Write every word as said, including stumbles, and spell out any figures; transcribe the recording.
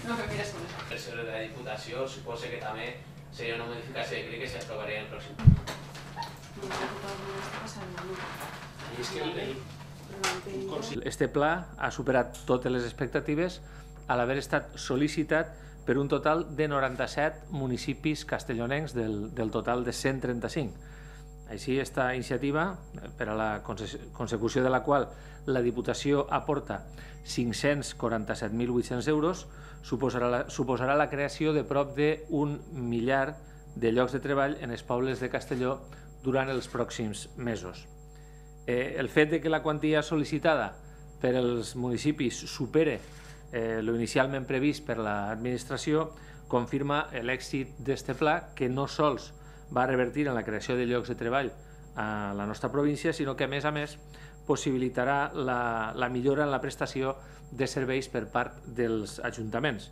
No me mires con eso. El sobre la Diputació suposa que també seria una modificació de crec que s'aprovaria en el pròxim. Este pla ha superat totes les expectatives a l'haver estat sol·licitat per un total de noranta-set municipis castellonencs del, del total de cent trenta-cinc. Així, aquesta iniciativa, per a la consecució de la qual la Diputació aporta cinc-cents quaranta-set mil vuit-cents euros, suposarà la, suposarà la creació de prop d'un millar de llocs de treball en els pobles de Castelló durant els pròxims mesos. Eh, el fet de que la quantia sol·licitada per als municipis supere eh, lo inicialment previst per l'administració confirma l'èxit d'este pla, que no sols va revertir en la creació de llocs de treball a la nostra província, sinó que a més a més possibilitarà la, la millora en la prestació de serveis per part dels ajuntaments.